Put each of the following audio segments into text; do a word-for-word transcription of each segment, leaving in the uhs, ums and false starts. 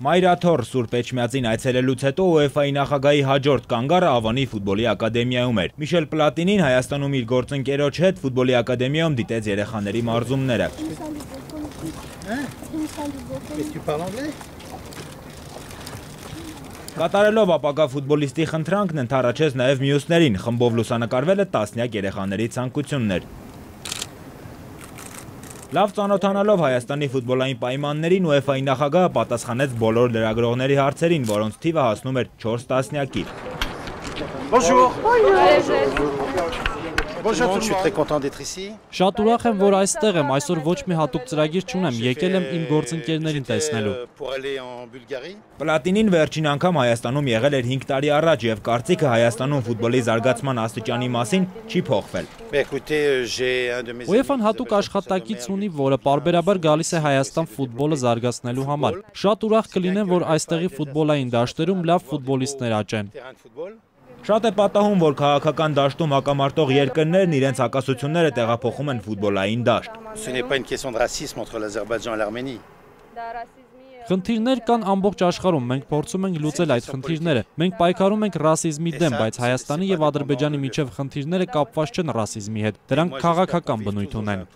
Մայրաթոր Սուրբ Էջմիածին այցելելուց հետո ՈւԵՖԱ-ի նախագահի հաջորդ կանգառը Ավանի ֆուտբոլի ակադեմիայում էր։ Միշել Պլատինին Հայաստանում իր գործընկերոջ հետ ֆուտբոլի ակադեմիայում դիտեց երեխաների մարզումները։ Կատարելով ապագա ֆուտբոլիստի խնդրանքն ընդառաջեց նաև մյուսներին, խմբով լուսանկարվել է տասնյակ երեխաների ցանկություններ։ Լավ ծանոթանալով Հայաստանի ֆուտբոլային պայմաններին ՈւԵՖԱ-ի նախագահը պատասխանեց բոլոր լրագրողների հարցերին, որոնց թիվը հասնում էր չորս տասնյակի։ Շատ ուրախ եմ, որ այստեղ եմ, այսօր ոչ մի հատուկ ծրագիր չունեմ, եկել եմ իմ գործընկերներին տեսնելու։ Պլատինին վերջին անգամ Հայաստանում եղել էր հինգ տարի առաջ և կարծիքը Հայաստանում ֆուտբոլի զարգացման աստիճանի մասին չի փոխվել։ ՈւԵՖԱ-ն հատուկ աշխատակից ունի, որը պարբերաբար գալիս է Հայաստան ֆուտբոլը զարգացնելու համար։ Շատ ուրախ կլինեմ, որ այստեղի ֆուտբոլային դաշտերում լավ ֆուտբոլիստներ աճեն։ Շատ է պատահում, որ քաղաքական դաշտում հակամարտող երկրներն իրենց հակասությունները տեղափոխում են ֆուտբոլային դաշտ։ Խնդիրներ կան ամբողջ աշխարհում, մենք փորձում ենք լուծել այդ խնդիրները։ Մենք պայքարում ենք ռասիզմի դեմ, բայց Հայաստանի և Ադրբեջանի միջև խնդիրները կապված չեն ռասիզմի հետ, դրանք քաղաքական բնույթ ունեն։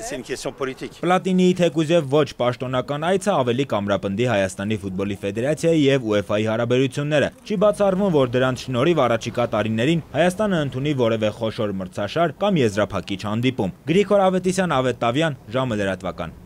Պլատինիի թեկուզև ոչ պաշտոնական այցը ավելի կամրապնդի Հայաստանի ֆուտբոլի ֆեդերացիայի և ՈւԵՖԱ-ի հարաբերությունները։ Չի բացառվում, որ դրանց շնորհիվ առաջիկա տարիներին Հայաստանը ընդունի որևէ խոշոր մրցաշար կամ եզրափակիչ հանդիպում։ Գրիգոր Ավետիսյան, Ավետ Տավյան, ժամը լրատվական։